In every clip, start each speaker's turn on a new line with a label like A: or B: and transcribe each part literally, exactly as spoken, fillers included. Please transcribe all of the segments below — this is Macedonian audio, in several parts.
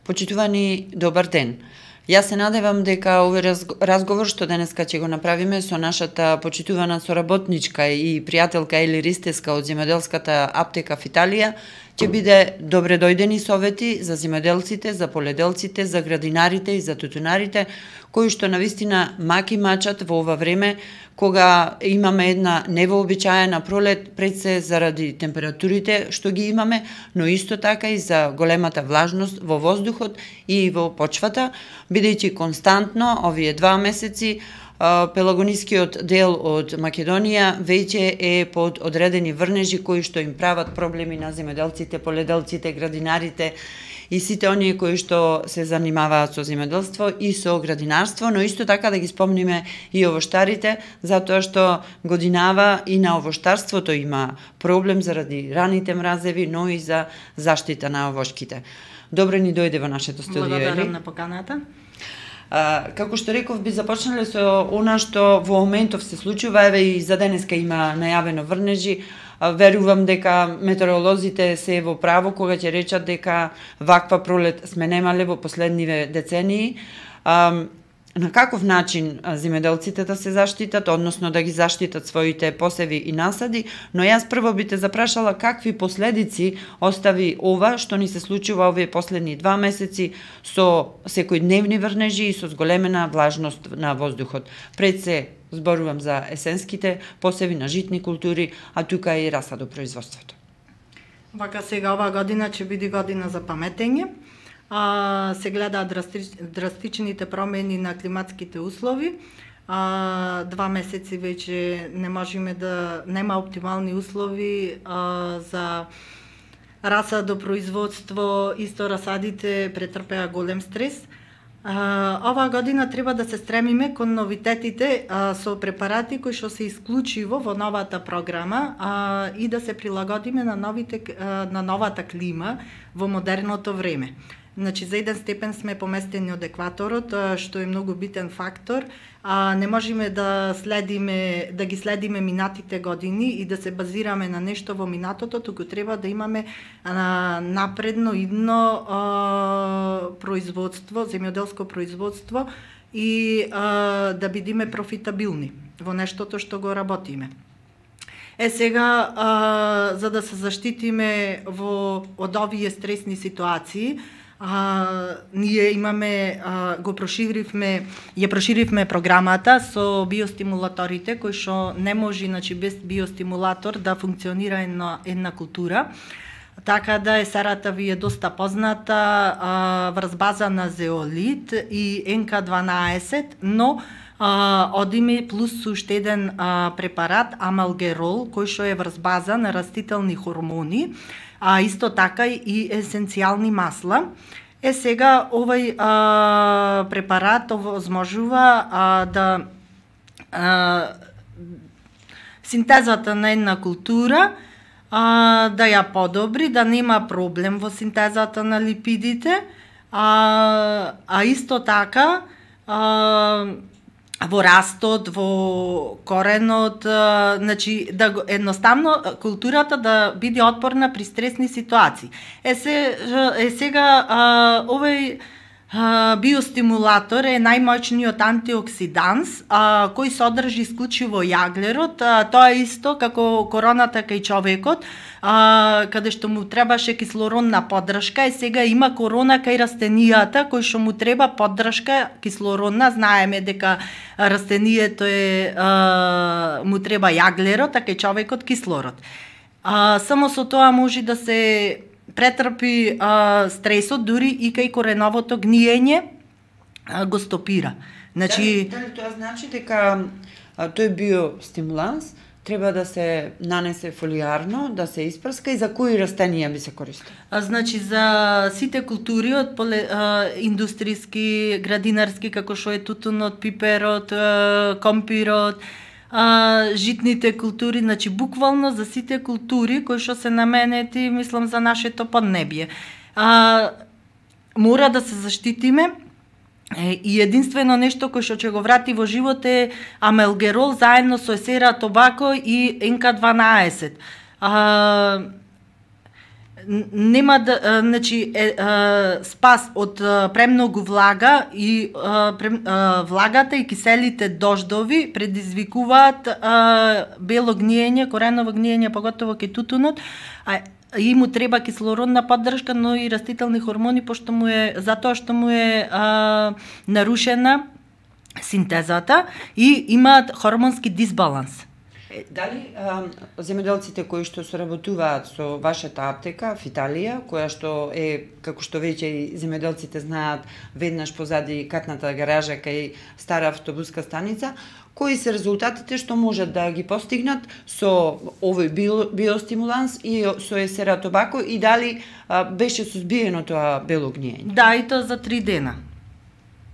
A: Почитувани, добар ден. Јас се надевам дека овој разговор што денеска ќе го направиме со нашата почитувана соработничка и пријателка Ели Ристеска од земјоделската аптека в Италија ќе биде добре дојдени совети за земјоделците, за поледелците, за градинарите и за тутунарите, кои што навистина маки мачат во ова време кога имаме една невообичаена пролет, пред се заради температурите што ги имаме, но исто така и за големата влажност во воздухот и во почвата, бидејќи константно овие два месеци пелагонискиот дел од Македонија веќе е под одредени врнежи кои што им прават проблеми на земјоделците, поледелците, градинарите и сите оние кои што се занимаваат со земјоделство и со градинарство, но исто така да ги спомниме и овоштарите, затоа што годинава и на овоштарството има проблем заради раните мразеви, но и за заштита на овошките. Добре ни дојде во нашето студио.
B: Благодарам на поканата.
A: А, како што реков, би започнале со она што во моментов се случува, еве и за денеска има најавено врнежи. Верувам дека метеоролозите се во право кога ќе речат дека ваква пролет сме немале во последниве децении. А, на каков начин земјоделците да се заштитат, односно да ги заштитат своите посеви и насади, но јас прво би те запрашала какви последици остави ова што ни се случува овие последни два месеци со секојдневни врнежи и со зголемена влажност на воздухот. Пред се зборувам за есенските посеви на житни култури, а тука и расадопроизводството.
B: Вака сега оваа година ќе биде година за паметење. А, се гледаат драстич, драстичните промени на климатските услови. А, два месеци веќе не можеме да нема оптимални услови а, за расадопроизводство, исто расадите претрпеа голем стрес. А, оваа година треба да се стремиме кон новитетите а, со препарати кои што се исклучиво во новата програма а, и да се прилагодиме на новите а, на новата клима во модерното време. Значи, за еден степен сме поместени од екваторот, што е многу битен фактор. А, не можеме да следиме, да ги следиме минатите години и да се базираме на нешто во минатото, туку треба да имаме а, напредно идно а, производство, земјоделско производство и а, да бидеме профитабилни во нештото што го работиме. Е сега, а, за да се заштитиме во од овие стресни ситуации, А, ние имаме, а, го проширивме, ја проширивме програмата со биостимулаторите, кои што не може, значи, без биостимулатор да функционира една, една култура. Така да есерата ви е доста позната, а, врз база на зеолит и Н К дванаесет, но а, одиме плюс уште еден а, препарат, амалгерол, кој што е врз база на растителни хормони, а исто така и есенцијални масла. Е сега овој а, препарат овозможува а, да а, синтезата на една култура а, да ја подобри, да нема проблем во синтезата на липидите, а, а исто така а, во растот, во коренот, а, значи да едноставно културата да биде отпорна при стресни ситуации. Е, се, е сега а, овој а, биостимулатор е најмоćниот антиоксиданс а, кој содржи исклучиво јаглерот. А, тоа е исто како короната кај човекот, а, каде што му требаше кислородна поддршка, и сега има корона кај растенијата кој што му треба поддршка кислородна. Знаеме дека растенијето е а, му треба јаглерот, а кај човекот кислород. А, само со тоа може да се претрпи а, стресот, дури и кај кореновото гниење а, го стопира. Значи,
A: дали, дали тоа значи дека а, тој биостимуланс треба да се нанесе фолиарно, да се испрска, и за кои растенија би се користи?
B: А, значи, за сите култури од поле, а, индустријски, градинарски, како што е тутунот, пиперот, а, компирот, а, житните култури, значи буквално за сите култури кои што се наменети, мислам, за нашето поднебје. А, мора да се заштитиме. И единствено нешто кој што ќе го врати во живот е амалгерол заедно со есера тобако и Н К дванаесет. А, нема да, значи е, е, спас од премногу влага и е, прем, е, влагата и киселите дождови предизвикуваат е, бело гниење, кореново гниење, поготово кај тутунот, а и му треба кислородна поддршка, но и растителни хормони, пошто му е затоа што му е а, нарушена синтезата и имаат хормонски дисбаланс.
A: Дали а, земјоделците кои што соработуваат со вашата аптека в Италија, која што е, како што веќе и земјоделците знаат, веднаш позади катната гаража кај стара автобуска станица, кои се резултатите што можат да ги постигнат со овој био, биостимуланс и со есератобако и дали а, беше сузбиено тоа бело гниење?
B: Да, и тоа за три дена.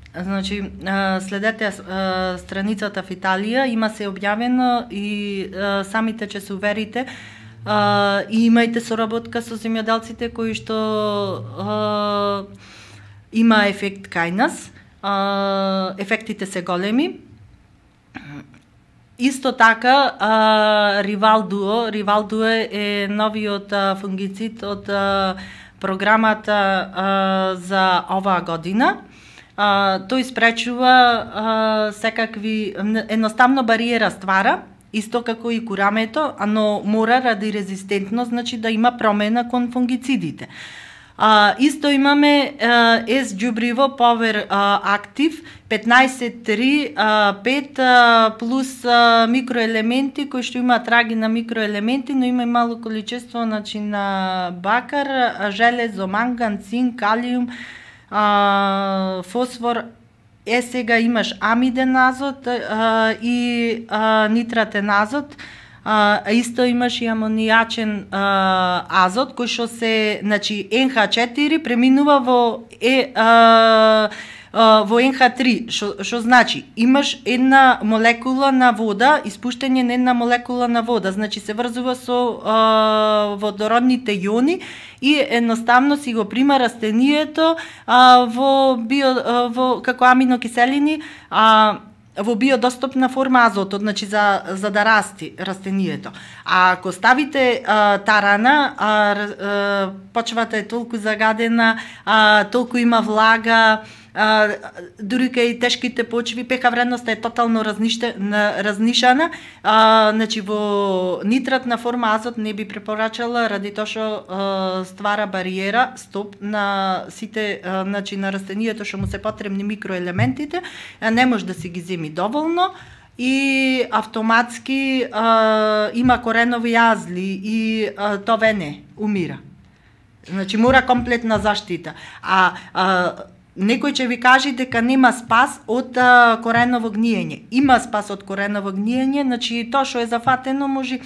B: Значи, следете страницата в Италија, има се објавено и самите ќе се уверите и имајте соработка со земјоделците кои што има ефект кај нас. Ефектите се големи. Исто така, Ривал Дуо, Ривал Дуо е новиот фунгицид од програмата за оваа година. Uh, тој спречува uh, секакви, едноставно бариера ствара, исто како и курамето, но мора ради резистентност, значи да има промена кон фунгицидите. Uh, исто имаме uh, С џубриво Power uh, Active петнаесет три пет uh, плюс uh, микроелементи кои што имаат траги на микроелементи, но има и мало количество, значи на бакар, железо, манган, цинк, калиум, Uh, фосфор, е сега имаш амиден азот uh, и uh, нитратен азот, а uh, исто имаш и амонијачен uh, азот кој што се, значи Ен Ха четири преминува во е uh, Uh, во Ен Ха три, што што значи имаш една молекула на вода, испуштање на една молекула на вода, значи се врзува со uh, водородните јони и едноставно си го прима растението uh, во био uh, во како аминокиселини, а uh, во биодостапна форма азотот, значи за за да расти растението. А ако ставите а, тарана, а, а, почвата е толку загадена, а, толку има влага, а, дури кај тешките почви, пеха вредноста е тотално разнишена, разнишана, а, значи во нитратна форма азот не би препорачала ради тоа што ствара бариера, стоп на сите, а, значи на растението што му се потребни микроелементите, а не може да си ги земи доволно и автоматски а, има коренови јазли и а, тоа не умира. Значи мора комплетна заштита. А, а некој ќе ви каже дека нема спас од а, кореново гниење. Има спас од кореново гниење, значи тоа што е зафатено може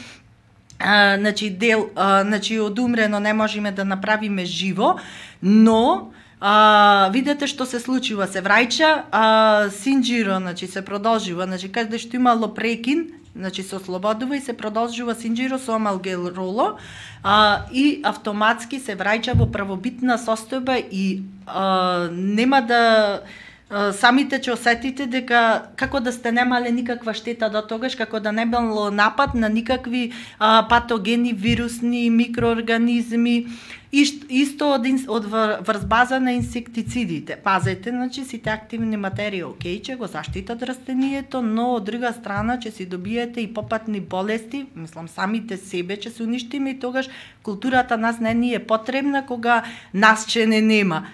B: а, значи дел, а, значи одумрено не можеме да направиме живо, но а, видете што се случува, се враќа а, синџиро, значи се продолжува, значи каде што имало прекин, значи се ослободува и се продолжува синџиро со амалгелроло а, и автоматски се враќа во правобитна состојба и а, нема да а, самите ќе осетите дека како да сте немале никаква штета до тогаш, како да не било напад на никакви а, патогени, вирусни, микроорганизми. И исто од, од врзбаза на инсектицидите. Пазете, значи сите активни материи, окей, ќе го заштитат растението, но од друга страна ќе си добиете и попатни болести, мислам самите себе ќе се уништиме и тогаш културата нас не ни е потребна кога нас ќе не нема.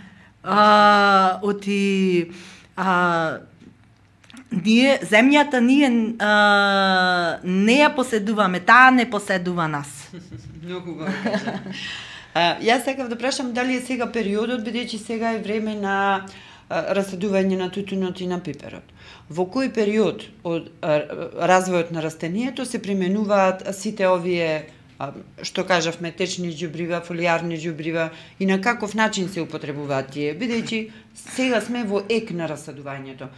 B: А, оти а, ние земјата ние а, не ја поседуваме, таа не поседува нас.
A: Многу го кажа. Uh, јас сакав да прашам дали е сега периодот, бидејќи сега е време на uh, расадување на тутунот и на пиперот. Во кој период од uh, развојот на растението се применуваат сите овие, uh, што кажавме, течни џубрива, фолијарни џубрива и на каков начин се употребуваат тие, бидејќи сега сме во ек на расадувањето.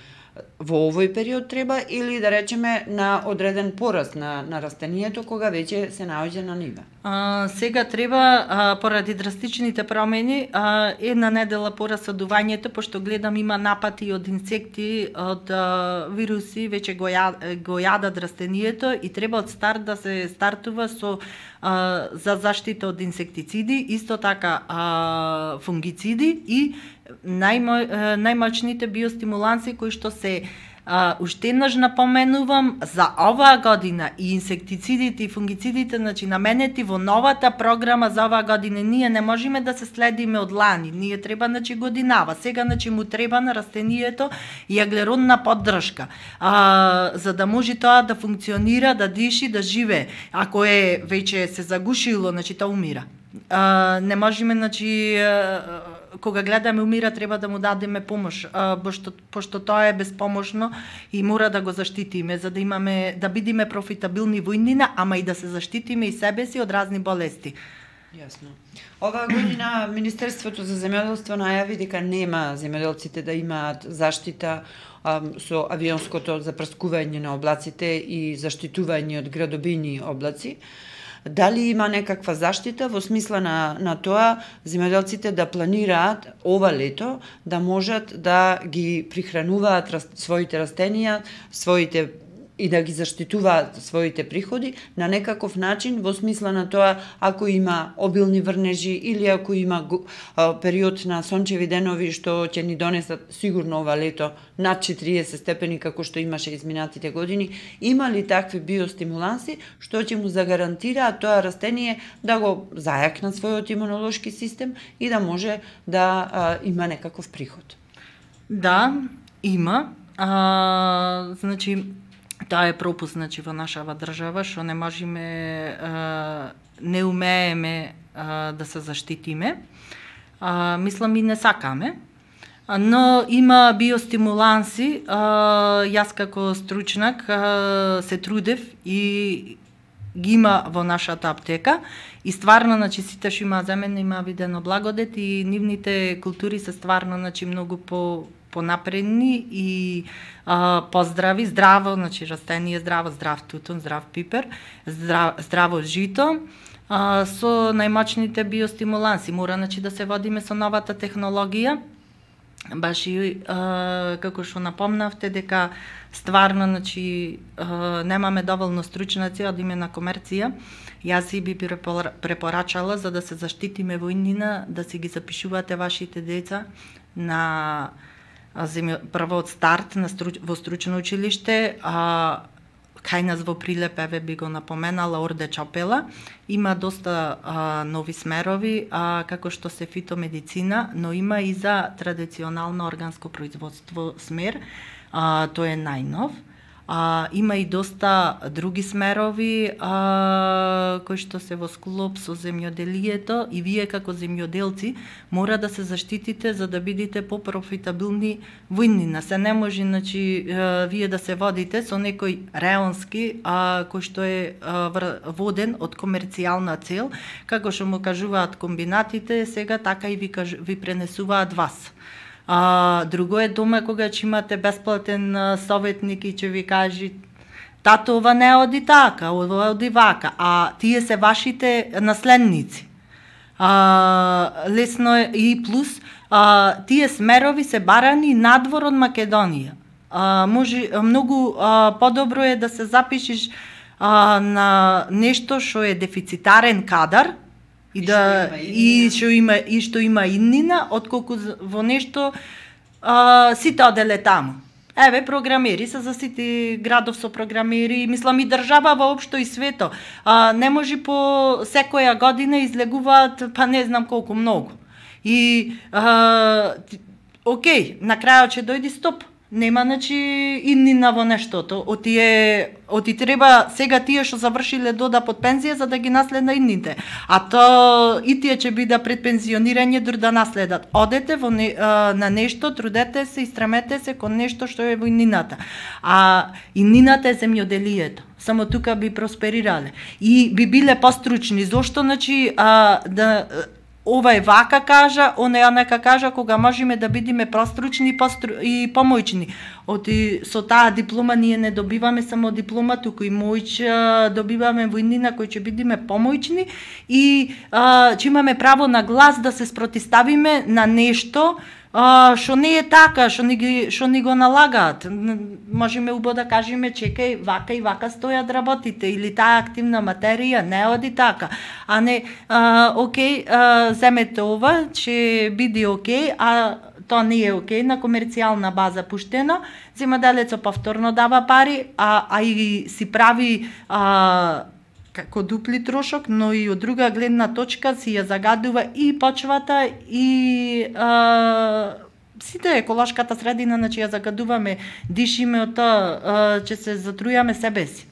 A: Во овој период треба или да речеме на одреден пораст на, на растението кога веќе се наоѓа на нива?
B: А, сега треба, а, поради драстичните промени, а, една недела по расадувањето, пошто гледам има напати од инсекти, од а, вируси, веќе го, ја, го јадат растението и треба од старт да се стартува со а, за заштита од инсектициди, исто така а, фунгициди и најмо, најмоćните биостимуланси кои што се А, уште еднаш напоменувам за оваа година и инсектицидите и фунгицидите, значи наменети во новата програма за оваа година, ние не можеме да се следиме од лани, ние треба значи годинава. Сега значи му треба на растението и аглеродна поддршка, а, за да може тоа да функционира, да диши, да живее. Ако е веќе се загушило, значи тоа умира. А, не можеме, значи, кога гледаме умира, треба да му дадеме помош, а, пошто, пошто тоа е безпомошно и мора да го заштитиме, за да имаме, да бидиме профитабилни во иднина, ама и да се заштитиме и себе си од разни болести.
A: Јасно. Оваа година Министерството за земјоделство најави дека нема земјоделците да имаат заштита а, со авионското запрскување на облаците и заштитување од градобини облаци. Дали има некаква заштита во смисла на, на тоа земјоделците да планираат ова лето да можат да ги прихрануваат рас, своите растенија, своите и да ги заштитуваат своите приходи на некаков начин во смисла на тоа ако има обилни врнежи или ако има а, период на сончеви денови што ќе ни донесат сигурно ова лето над четириесет степени како што имаше изминатите години, има ли такви биостимуланси што ќе му загарантираат тоа растение да го зајакнат својот имунолошки систем и да може да а, има некаков приход?
B: Да, има. А, значи Тоа е пропуст, значи, во нашава држава, што не можеме, не умееме да се заштитиме. Мислам и не сакаме. Но има биостимуланси. Јас како стручнак се трудев и ги има во нашата аптека. И стварно, значи, сите што има земена има видено благодет и нивните култури се стварно, значи, многу по понапредни и а, поздрави, здраво, значи растение здраво, здрав тутун, здрав пипер, здрав, здраво жито, а, со најмоćните биостимуланси. Мора, значи, да се водиме со новата технологија. Баш и а, како што напомнавте дека стварно, значи, а, немаме доволно стручнаци, одиме на комерција. Јас и би препорачала за да се заштитиме во иднина, да си ги запишувате вашите деца на земја, прво од старт на стру, во стручно училиште, а, кај нас во Прилеп, еве би го напоменала, Орде Чапела, има доста а, нови смерови, а, како што се фитомедицина, но има и за традиционално органско производство смер, а, тој е најнов. А, има и доста други смерови а, кои што се во склоп со земјоделието и вие како земјоделци мора да се заштитите за да бидете попрофитабилни во иднина. Се не може, значи, вие да се водите со некој реонски а, кој што е а, воден од комерцијална цел, како што му кажуваат комбинатите, сега така и ви, кажу, ви пренесуваат вас. А, друго е дома кога ќе имате бесплатен а, советник и ќе ви кажи тато ова не оди така, ова оди вака, а тие се вашите наследници. А, лесно е и плюс, а, тие смерови се барани надвор од Македонија. А, може многу а, подобро е да се запишеш а, на нешто што е дефицитарен кадар, и, и да и што има и што има иднина, отколку во нешто а, сите оделе таму. Еве програмери се за сите градов со програмери, мислам и држава воопшто и свето. А, не може по секоја година излегуваат па не знам колку многу. И а, окей, на крајот ќе дојде стоп. Нема, значи, иднина во нештото. Оти е, оти треба сега тие што завршиле дода под пензија за да ги наследна идните. А то и тие ќе биде пред пензионирање дур да наследат. Одете во не, а, на нешто, трудете се и стремете се кон нешто што е во иднината. А иднината е земјоделието. Само тука би просперирале. И би биле постручни. Зошто, значи, а, да... Ова е вака кажа, она е нека кажа, кога можеме да бидеме простручни постру... и помојчни. Оти со таа диплома ние не добиваме само диплома, туку и мојч добиваме во иднина кој ќе бидеме помојчни и а, ќе имаме право на глас да се спротиставиме на нешто а, што не е така, што ни ги што ни го налагаат. Можеме убаво да кажеме, чекај, вака и вака стојат работите, или таа активна материја не оди така, а не а, окей, а, земете ова, ќе биде окей, а тоа не е окей, на комерцијална база пуштено, земјоделецот повторно дава пари, а, а и си прави а, како дупли трошок, но и од друга гледна точка си ја загадува и почвата и а, сите еколошката средина, значи ја загадуваме, дишиме од тоа, ќе се затрујаме себе си.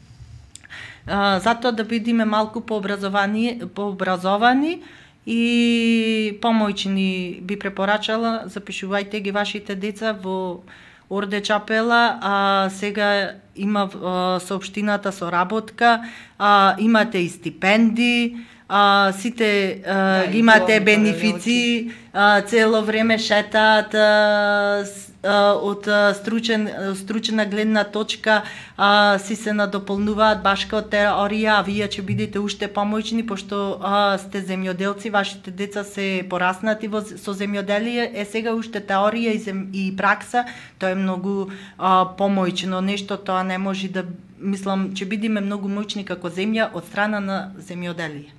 B: А, затоа да бидеме малку пообразовани, пообразовани и помојчни би препорачала, запишувајте ги вашите деца во Орде Чапела, а сега има а, соопштината со работка, а, имате и стипендии, а, сите а, да, ги имате бенефици, а, цело време шетаат а, а, од стручен, стручена гледна точка, а, си се надополнуваат баш као теорија, а вие ќе бидете уште помојчни, пошто а, сте земјоделци, вашите деца се пораснати во, со земјоделие, е сега уште теорија и, зем, и пракса, тоа е многу а, помојчно нешто, тоа не може да, мислам, ќе бидеме многу моćни како земја од страна на земјоделие.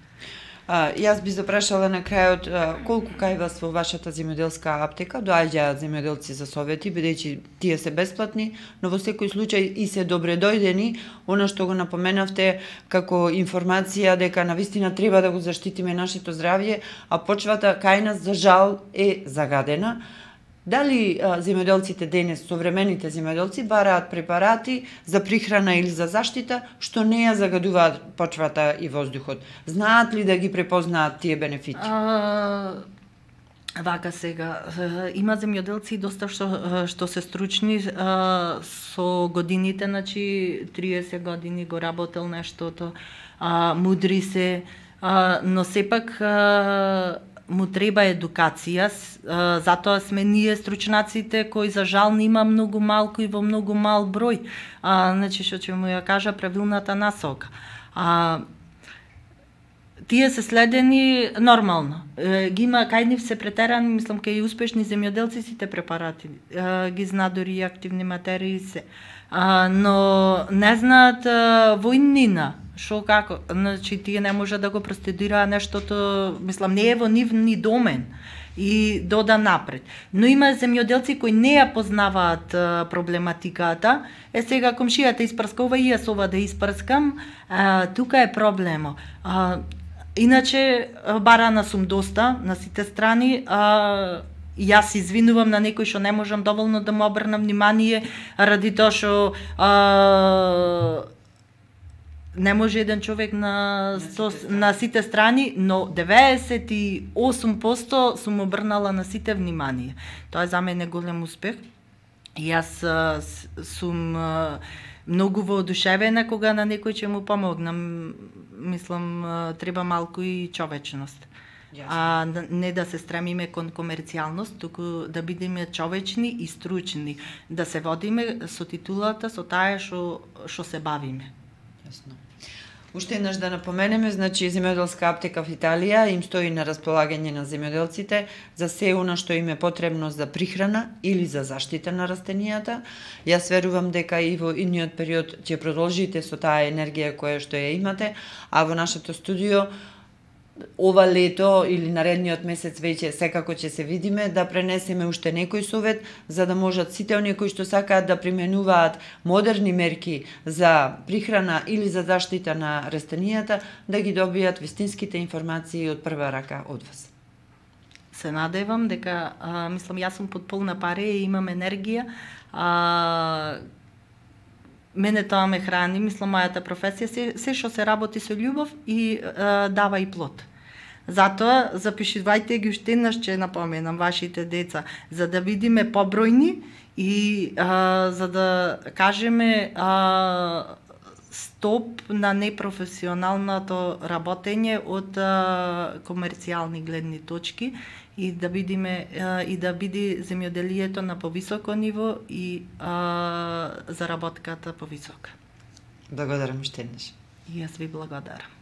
A: А, јас би запрашала на крајот а, колку кај вас во вашата земјоделска аптека доаѓаат земјоделци за совети, бидејќи тие се бесплатни, но во секој случај и се добре дојдени, она што го напоменавте како информација дека навистина треба да го заштитиме нашето здравје, а почвата кај нас за жал е загадена. Дали а, земјоделците денес, современите земјоделци, бараат препарати за прихрана или за заштита, што не ја загадуваат почвата и воздухот? Знаат ли да ги препознаат тие бенефити?
B: А, вака сега, има земјоделци доста што, што се стручни а, со годините, значи триесет години го работел нештото, а, мудри се, а, но сепак а, му треба едукација, затоа сме ние стручнаците кои за жал нема многу малку и во многу мал број. А, значи што ќе му ја кажа правилната насока. А, тие се следени нормално. E, ги има кај нив се претерани, мислам кај успешни земјоделци сите препарати. E, ги зна дори и активни материи се. А, но не знаат војнина. Шо како, значи тие не може да го простудира нештото, мислам, не е во нив ни домен и дода напред. Но има земјоделци кои не ја познаваат а, проблематиката. Е сега комшијата испрскува и јас ова да испрскам, а, тука е проблемо. А, иначе барана сум доста на сите страни, а, јас извинувам на некој што не можам доволно да му обрнам внимание ради тоа што а, не може еден човек на, со, на сите страни, но деветдесет и осум проценти сум обрнала на сите внимание. Тоа е за мене голем успех. Јас а, сум а, многу воодушевена кога на некој ќе му помогнам. Мислам, а, треба малку и човечност. Yes. А не да се стремиме кон комерцијалност, туку да бидеме човечни и стручни, да се водиме со титулата, со таа што што се бавиме.
A: Јасно. Уште еднаш да напоменеме, значи земјоделска аптека в Италија им стои на располагање на земјоделците за се она што им е потребно за прихрана или за заштита на растенијата. Јас верувам дека и во идниот период ќе продолжите со таа енергија која што ја имате, а во нашето студио ова лето или наредниот месец веќе секако ќе се видиме да пренесеме уште некој совет за да можат сите оние кои што сакаат да применуваат модерни мерки за прихрана или за заштита на растенијата да ги добијат вистинските информации од прва рака од вас.
B: Се надевам дека а, мислам јас сум под полна пареја и имам енергија. А, мене тоа ме храни, мислам мојата професија се, се што се работи со љубов и а, дава и плод. Затоа запишувајте ги уште еднаш, ќе напоменам вашите деца, за да видиме побројни и а, за да кажеме а, стоп на непрофесионалното работење од а, комерцијални гледни точки и да видиме а, и да биде земјоделието на повисоко ниво и а, заработката повисока.
A: Благодарам уште еднаш.
B: И јас ви благодарам.